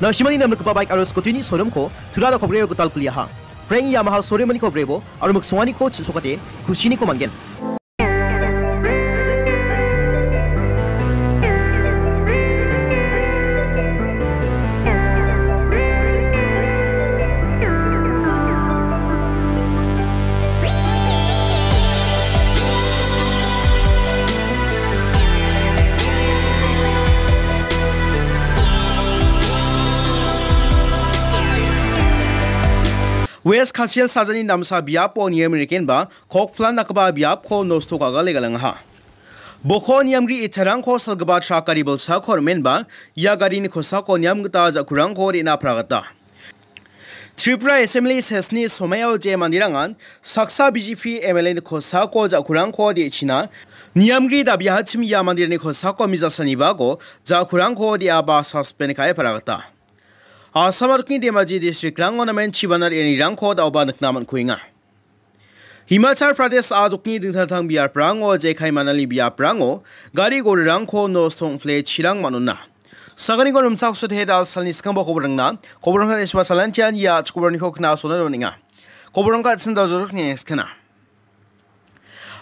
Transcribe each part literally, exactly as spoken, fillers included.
Nasimani namrikgipa baik aro scooty-ni showroom-ko Tura Rock Breo gital kuliaha. Frank Yamaha showroom-niko brebo aro miksonganiko chisokate kusiniko man·gen. West Khasi Hills sajani namsa biapo niamrikenba kok flan dakgipa biapko nosto ka·gale galangaha. Boko niamri itarangko salgipa trak gari bolsako rimenba ia garini kosako niam gita ja·kurangko re·na pra gita. Tripura Assembly sesni somaio je manderangan saksa B J P M L A-ni kosako ja·kurangko de·china niamgri dabiahachim ia manderangni kosako mijalsanibako ja·kurangko de·aba suspend ka·e paragata. Assam adokni Dhemaji district-rango namen chibanar ianirangko daoba nikna man·kuenga. Himachal Pradesh adokni dingtang dingtang biaprango jekai manali biaprango gari gorirangko nosto ong·pile chirang man·ona. Saganiko rimchaksote da salni skangba koborangna, koborangna isba salantian ia chikoborniko kna sona doninga. Koborangka atsin dajorok ni skana.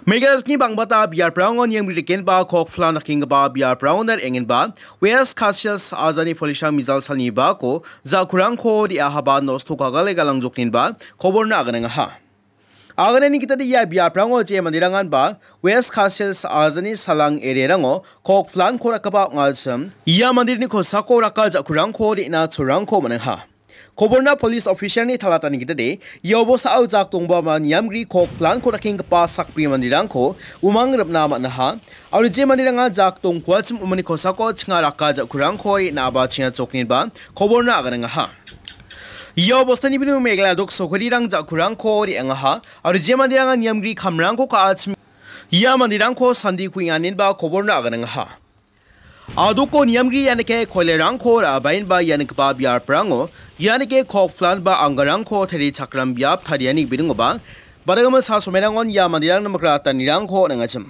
Meghalaya ni bangbata biaprango niam rikenba kok flan dakenggipa biaprango nar engenba West Khasi Hills ajani polisrang mijal salnibako ja·kurangko de·ahaba nosto ka·gale galangjokninba koborna aganangaha. Aganani gitade ia biaprango je manderanganba West Khasi Hills ajani salang area-rango kok flan-ko rakgipa ong·achim ia manderni kosako raka ja·kurangko re·na cholrangko man·aha. Koborna police officer-ni talatani gitade ia obosao jak dongba ma niamgri kok flan-ko dakenggipa sakbri manderangko umang rim·na man·aha. Aro je manderanga jak dongkuachim umani kosako chinga raka ja·kurangko re·na aba chinga chokninba koborna aganangaha. Ia obostani bini Meghalaya dok sokarirang ja·kurangko re·angaha. Aro je manderanga niamgri kamrangko ka·achim ia manderangko sandi kuenganinba koborna aganangaha. Adoko niamgri ianike koilerangko ra·baenba ia nikgipa biaprango ianike kok flan ba anggarangko tarichakram biap tariani gibidingoba badagama sa somerangon ia manderangna mikratanirangko on·angachim.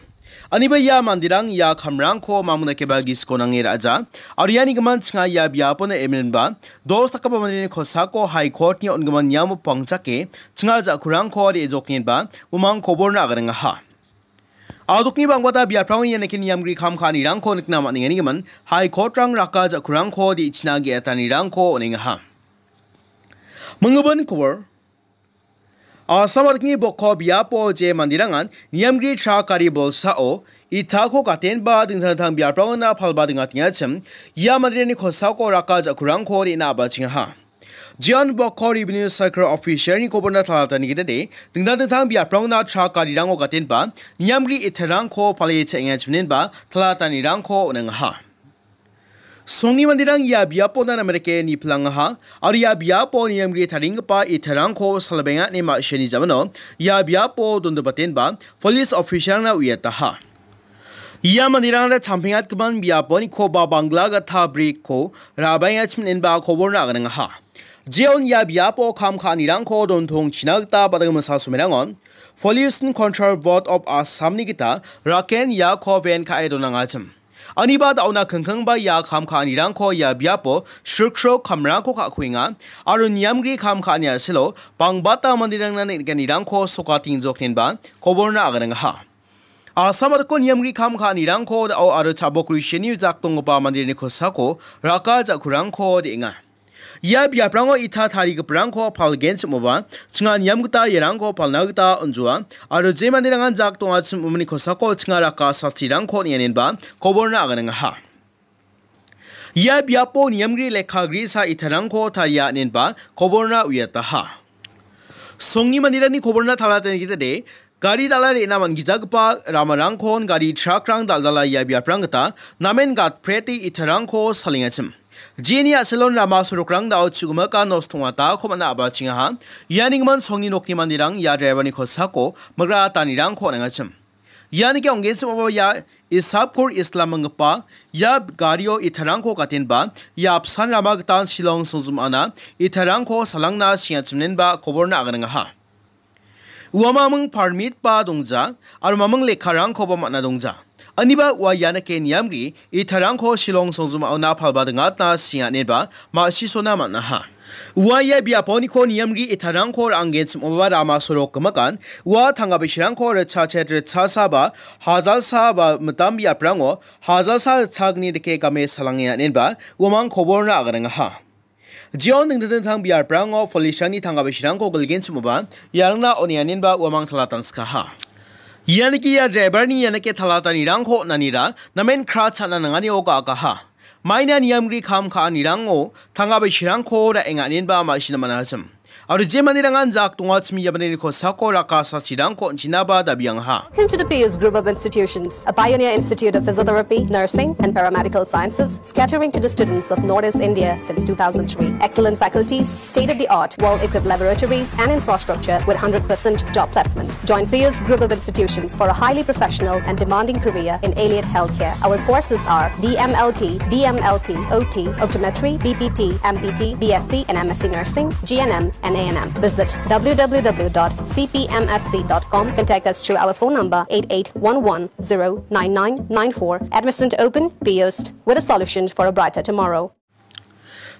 Aniba ia manderang ia kamrangko mamung dakeba gisiko nange ra·ja. Aro iani gimin chinga ia biapona eminba dos dakgipa manderangni kosako High Court-ni on·gimin niamo pangchake chinga ja·kurangko re·jokninba umang koborna aganangaha. Adokni bangbata biaprango ia nike niamgri kam ka·anirangko nikna man·engani gimin High Court-rang raka ja·kurangko de·china ge·atanirangko on·engaha. Minggimin kobor. Assam adikni bokko biapo je manderangan niamgri trak gari bolsao itako gatenba dingtang dingtang biaprangona palba dingachim ia manderangni kosako raka ja·kurangko re·na abachengaha. Jian bokko revenue circle officer-ni koborna talatani gitade dingtang dingtang biaprangna trak garirango gatenba niamgri itarangko pale cha·engachimnenba talatanirangko on·engaha. Songni manderang ia biapona namerike niplangaha, aro ia biapo niamgri taringgipa itarangko salbenga ine ma·sini jamano ia biapo dondobatenba police officer-na uiataha. Ia manderangna champengatgipan biaponikoba bangla gita brikko rabaengachimnenba koborna aganangaha. Jeon ia biapo kam ka·anirangko dontongchina gita badagimisa somerangon Pollution Control Board of Assam-ni gita raken iako ben ka·e donangachim. Aniba da·ona kingkingba ia kam ka·anirangko ia biapo srikro kamrangko ka·kuenga aro niamgri kam ka·ani a·selo bangbata manderangna neng·nikanirangko sokatingjoknenba koborna aganangaha. Assam adiko niamgri kam ka·anirangko da·o aro chabok riseni jak donggipa manderangni kosako raka ja·kurangko de·enga. Ia biaprango ita tarigiparangko palgenchimoba, chinga niam gita iarangko palna gita on·joa, aro je manderangan jak dongachim umani kosako chinga raka sastirangko nianenba koborna aganangaha. Ia biapo niamgri lekka grisa itarangko taria inenba koborna uiataha. Songni manderangni koborna talatani gitade, gari dal·a re·na man·gijagipa ramarangkon gari trakrang dal·dala ia biaprang gita namen gatprete itarangko salengachim. Jeni a·selon rama sorokrang da·o chigimika nosto ong·atako man·a abachengaha. Iani gimin songni nokni manderang ia driver-ni kosako migra atanirangko on·engachim. Ianike ong·genchim ong·a ia Isapkur Islam minggipa ia gario itarangko gatenba ia apsan rama gitan Shillong songjum ana itarangko salangna sengachimnenba koborna aganangaha. Ua maming permit ba dongja, aro maming lekkarangkoba man·a dongja. Aniba ua ianike niamri itarangko Shillong songjimaona palba dingatna sing·aneba ma·sisona man·aha. Ua ia biaponiko niamri itarangko ra·anggenchim ong·aba rama sorok gimikan, ua tangka bisirangko ritchachet ritchasaba hajalsa ba mitam biaprango hajalsa ritchagni dike game salangenga inenba uamang koborna aganangaha. Jeon dingtang dingtang biaprango police-rangni tangka bisirangko gilgenchimoba iarangna on·enga inenba uamang talatangskaha. Ianike ia driver-ni ianike talatanirangko on·anira namen kra cha·na nanganio ga·akaha. Maina niamri kam ka·anirango tangka bisirangko ra·enga inenba ma·sina man·achim. Aro je manderangan jak dongachim ia mandeni kosako raka sasirangko on·chinaba dabiangaha. Welcome to the Pius Group of Institutions, a pioneer institute of physiotherapy, nursing, and paramedical sciences, catering to the students of Northeast India since two thousand three. Excellent faculties, state-of-the-art, well-equipped laboratories, and infrastructure with hundred percent job placement. Join Pius Group of Institutions for a highly professional and demanding career in allied healthcare. Our courses are D M L T, B M L T, O T, optometry, B P T, M P T, B S C, and M S C nursing, G N M, and A N M. Visit W W W dot C P M S C dot com. Contact us through our phone number eight eight one one zero nine nine nine four. Admissions open, Pius, with a solution for a brighter tomorrow.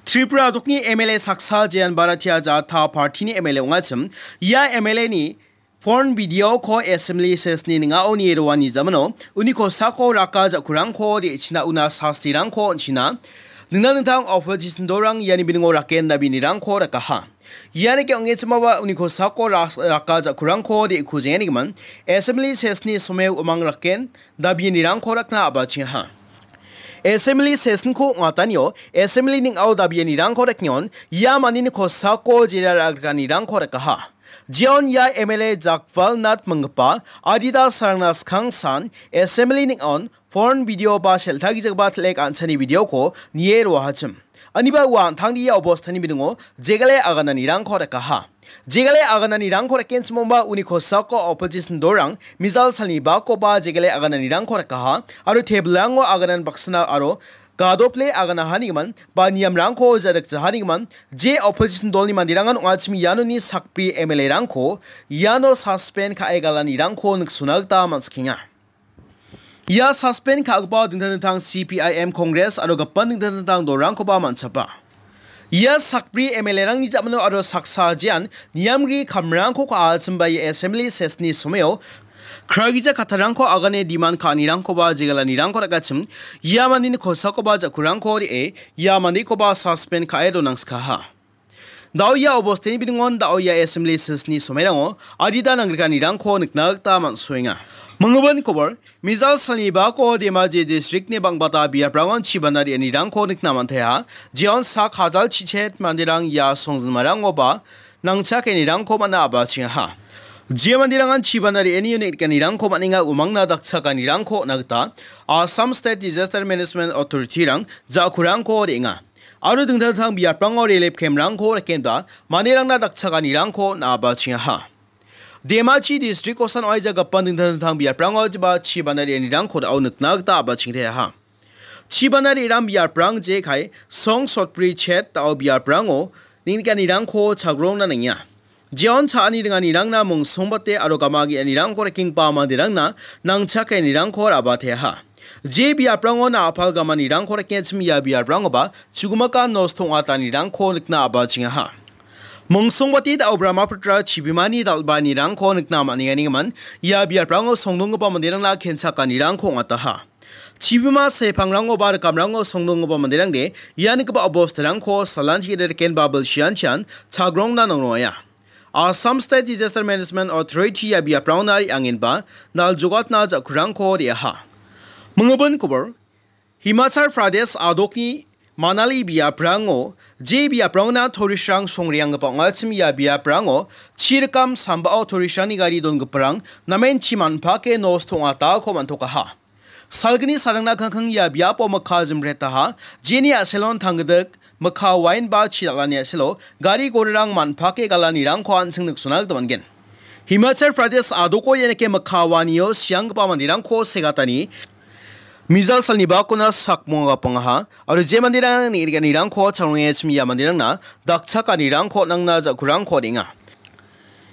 Tripura dokni M L A saksa Jean Baratia Janata Party-ni M L A ong·achim. Ia M L A-ni porn video-ko assembly session-ni ning·ao nie roani jamano uni kosako raka ja·kurangko de·china una sastirangko on·china. Dingtang dingtang opposition dolrang iani biningo raken dabianirangko rakaha. Ianike ong·echimaba uni kosako ras-, raka ja·kurangko de·kujenganigimin assembly session-ni someo uamang raken dabianirangko rakna a·bachengaha. Assembly session-ko ong·atanio assembly ning·ao dabianirangko rakengon ia mandeni kosako jera ra·grikanirangko rakaha. Jeon ia M L A Jagpal Nath minggipa adita sarangna skangsan assembly ning·aon porn video ba sel·tagijagba telek an·chani video-ko nie roahachim. Aniba ua an·tangni ia obostani biningo jegale agananirangko rakaha. Jegale agananirangko rakenchimongba uni kosako opposition dolrang mijal salni bakoba jegale agananirangko rakaha aro tebilango aganan baksana aro gadople aganahanigimin ba niamrangko ja·rikjahanigimin je opposition dolni manderangan ong·achim ianoni sakbri M L A-rangko iano suspend ka·e galanirangko niksona gita man·sikenga. Ia suspend ka·gipa dingtang dingtang C P I M, Congress aro gipin dingtang dingtang dolrangkoba man·chapa. Ia sakbri M L A-rangni ja·mano aro saksa jean niamri kamrangko ka·achimba ia assembly session-ni somao kragija kattarangko agane demand ka·anirangkoba jegalanirangko ra·gachim, ia mandeni kosakoba ja·kurangko re·e, ia mandekoba suspend ka·e donangskaha. Da·o ia obosteni biningon da·o ia assembly session-ni somairango adita nangrikanirangko nikna gita man·soenga. Minggimin kobor, mijal salni bako Dhemaji district-ni bang·bata biaprangon chibana re·anirangko nikna man·taiha. Jeon sak hajal chichet manderang ia songjinmarangoba nangchakenirangko man·a a·bachengaha. Jia manderangan chibana re·ani unit ganirangko man·enga, umangna dakchakanirangko on·a gita Assam State Disaster Management Authority-rang ja·kurangko re·enga. Aro dingtang dingtang biaprango relief camp-rangko rakenba manderangna dakchakanirangko on·a a·bachengaha. Dhemaji district-osan oaija gipin dingtang dingtang biaprango jiba chibana re·anirangko da·o nikna gita a·bachengteaha. Chibana re·rang biaprang jekai song sotbri chet da·o biaprango neng·nikanirangko chagrongna nangenga. Jeon cha·ani ringanirangna mongsongbate aro gama ge·anirangko rakenggipa manderangna nangchakenirangko ra·bateaha. Je biaprango na·apal gamanirangko rakengachim ia biaprangoba chugimaka nosto ong·atanirangko nikna a·bachengaha. Mongsongbate da·o Brahmaputra chibimani dal·baanirangko nikna man·enga, nigimin ia biaprango songdonggipa manderangna kenchakanirangko ong·ataha. Chibima sepangrango ba rikamrango songdonggipa manderangde ia nikgipa obostarangko salanchi rikenba bilsianchian chagrongna nangrongaia. Assam State Disaster Management Authority ia biaprangona re·angenba naljogatna ja·kurangko re·aha. Minggimin kobor, Himachal Pradesh a·dokni Manali biaprango je biaprangona tourist-rang songreanggipa ong·achim ia biaprango chi rikam sambao tourist-rangni gari donggiparang namen chi man·pake nosto ong·atako man·tokaha. Salgni sarangna kangkang ia biapo mikka jimretaha, jeni a·selon tanggidik mikka wain ba chi dal·ani a·selo gari gorirang man·pake galanirangko an·ching niksona gita man·gen. Himachal Pradesh a·doko ianike mikka wainio sianggipa manderangko segatani mijal salni bakona sak mongagapangaha, aro je manderang neng·nikanirangko changrongengachim ia manderangna dakchakanirangko nangna ja·kurangko on·enga.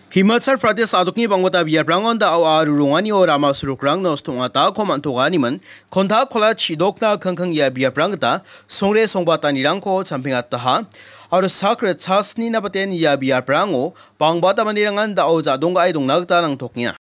Himachal Pradesh a·dokni bangbata biaprangon da·o aro ronganio rama sorokrang nosto ong·atako man·toganimin, konta kola chidokna kingking ia biaprang gita songre songbatanirangko champengataha, aro sak ritchasnina baten ia biaprango bangbata manderangan da·o jadonggae dongna gita nangtokenga.